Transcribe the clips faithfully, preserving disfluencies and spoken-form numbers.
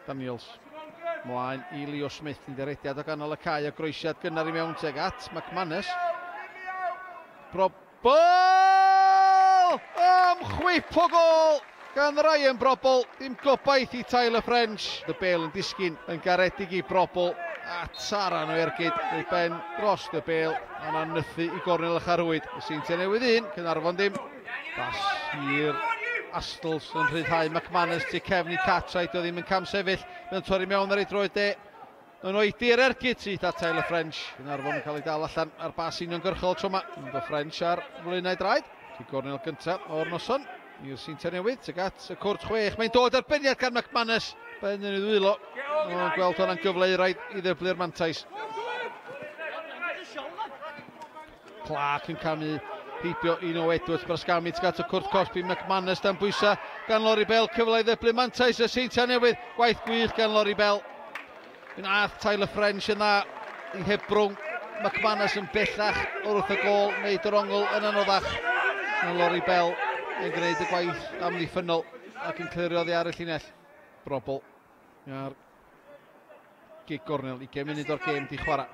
Daniels mlaen i Leo Smith yn derediad o ganol y cae a groesiad gynnar i mewn teg at McManus. Brobbel! Am chwip o gol gan Ryan Brobbel. Dim gobaith i Tyler French. Y bel yn disgyn yn garedig i Brobbel. A taran o ergyd neu ben dros y bel. A yna'n nythu i gornel y charwyd. Y Seintiau Newydd un, Caernarfon dim. Bas i'r Astles yn rhyddhau McManus tu cefn i Cartwright, o ddim yn camsefyll. Mae'n torri mewn ar ei droed de. Yn oedi yr ergyd syth at Tyler French. Caernarfon yn cael ei dal allan ar bas uniongyrchol tro yma. Yn do French ar flaenau draed. Ci gornel gyntaf o'r noson i'r Seintiau Newydd. Tuag at y cwrt chwech. Mae'n dod arbenniad gan McManus. Ben yn ei ddwylo. Mae'n gweld hwnna'n gyfle i raid i ddyblu'r mantais. Clark yn camu heibio i Noah Edwards, Brasgami tuag at y cwrt cosbi, McManus dan bwysa gan Laurie Bell, cyfle i ddyblu mantais y Seintiau Newydd, gwaith gwych gan Laurie Bell. Yn ath Tyler French yn dda i hebrwng McManus yn bellach wrth y gôl, wneud yr ongl yn anoddach. Mae Laurie Bell yn gwneud y gwaith amddiffynnol ac yn clirio oddi ar y llinell. Brobbel ar gig gornel, ugain munud o'r gêm di chwarae.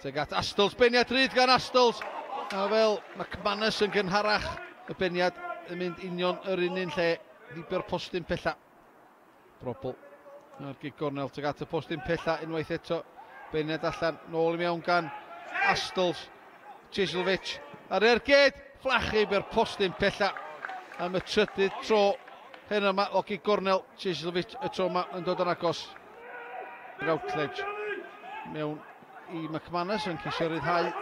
Tuag at Astles, beniad rhydd gan Astles. A fel McManus yn gynharach, y beniad yn mynd union yr un un lle, ddibio'r postyn pella. Brobbel ar gig gornel tuag at y postyn pella unwaith eto. Beniad allan, nôl i mewn gan Astles. Cieslewicz ar ergyd, fflachu i'r postyn pella am y trydydd tro hyn yma o gig gornel. Cieslewicz y tro yma yn dod yn agos. Routledge mewn i McManus yn ceisio rhyddhau.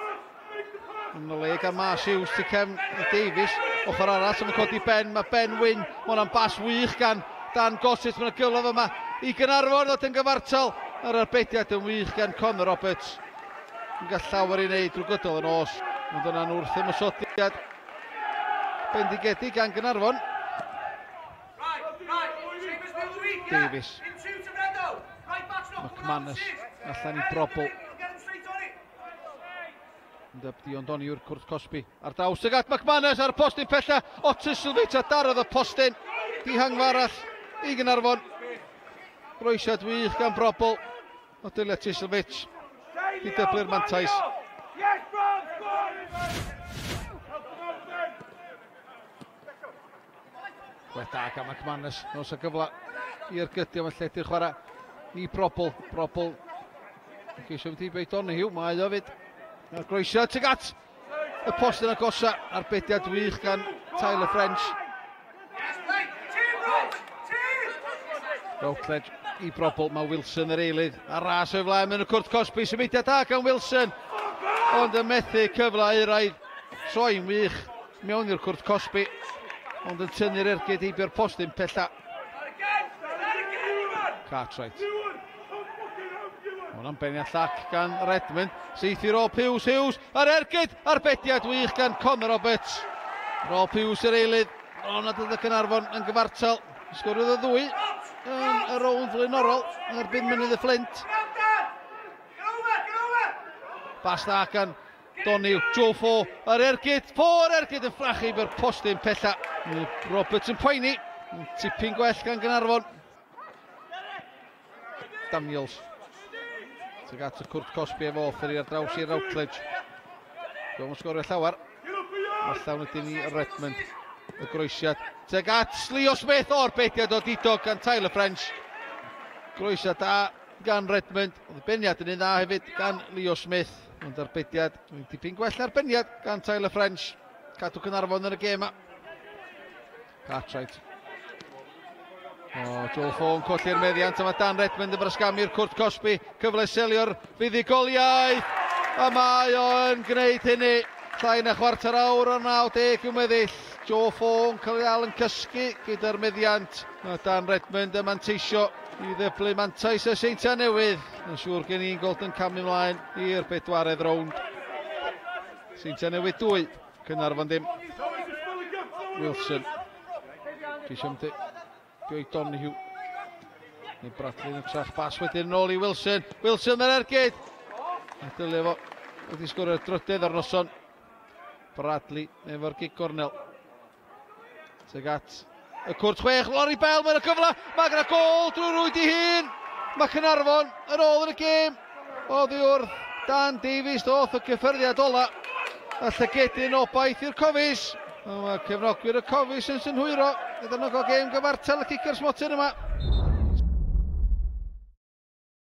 Yn y le gan Mars Hughes tu cefn i Davies. Ochr arall yn codi Ben, mae Ben Wyn. Mae hwnna'n bas wych gan Dan Gossett. Mae'n gyfle yma i Gaernarfon ddod yn gyfartal. Yr arbediad yn wych gan Conor Roberts. Yn gael llawer i wneud drwy gydol y nos. Ond yna'n wrth ymosodiad bendigedig gan Gaernarfon. Davies. McManus allan i Brobbel. Dion Doniwr cwrt cosbi ar draws tuag at McManus ar y postyn pella. O Cieslewicz a darodd y postyn. Dihangfa arall i Gaernarfon. Groesiad wych gan Brobbel. O Dylia Cieslewicz i dyblu'r mantais. Gwaith da gan McManus. Nos o gyfle i ergydio, mae'n lledu'r chwarae i Brobbel. Brobbel yn ceisio mynd heibio i Donahue. Mae o fyd. A'r groesiad tuag at y postyn agosa, arbediad wych gan Tyler French. Routledge i Brobbel, mae Wilson yr eilydd ar ras o'i flaen mewn y cwrt cosbi, symudiad da gan Wilson, ond yn methu cyfle euraidd, troi'n wych mewn i'r cwrt cosbi, ond yn tynnu'r ergyd heibio'r postyn pella. Cartwright. Hwna'n beniad llac gan Redmond. Seith i Rob Hughes, Hughes ar ergyd, arbediad wych gan Conor Roberts. Rob Hughes yr eilydd, ond nad oedd y Caernarfon yn gyfartal. Sgoriodd y ddwy yn y rownd flaenorol yn erbyn Mynydd y Fflint. Bas dda gan Donahue, Joe Fo ar ergyd, Fo ar ergyd yn fflachu i'r postyn pella. Roberts yn poeni, tipyn gwell gan Gaernarfon. Daniels. Tuag at y cwrt cosbi efo Offery ar draws i Routledge. Dwi'n sgorio llawer. Allan wedyn i Redmond. Y groesiad. Tuag at Leo Smith o'r bediad o didog gan Tyler French. Groesiad da gan Redmond. Oedd y beniad yn un dda hefyd gan Leo Smith. Ond arbediad, dwi'n dipyn gwell arbeniad gan Tyler French. Cadw Caernarfon yn y gêm yma. Cartwright. O, Joel Fo yn colli'r meddiant, a mae Dan Redmond yn brasgamu'r cwrt cosbi. Cyfle selio'r fuddugoliaeth, a mae o'n gwneud hynny. Llai na chwarter awr o'r naw deg yn weddill. Joe Fo yn cael ei ddal yn cysgu gyda'r meddiant. Mae Dan Redmond yn manteisio i ddyblu mantais y Seintiau Newydd. Yn siŵr gen i'n gweld yn camu ymlaen i'r bedwaredd rownd. Seintiau Newydd dwy, Caernarfon dim. Wilson. Ceisio mynd Joey Donahue. Neu Bradley yn trach bas wedyn yn ôl i Wilson. Wilson yr ergyd. A dylai fo wedi sgorio'r drydedd ar noson. Bradley efo'r gig gornel. Tuag at Y cwrt chwech, Laurie Bell, mae'n y cyfle, mae gyda gol drwy rwyd i hun. Mae Caernarfon yn ôl yn y gêm. Oddi wrth Dan Davies, ddoth y cyffyrddiad ola. A llygedyn obaith i'r Cofis. Mae cefnogwyr y Cofis yn synhwyro. Iddyn nhw gael gêm gyfartal y cicio'r smotyn yma.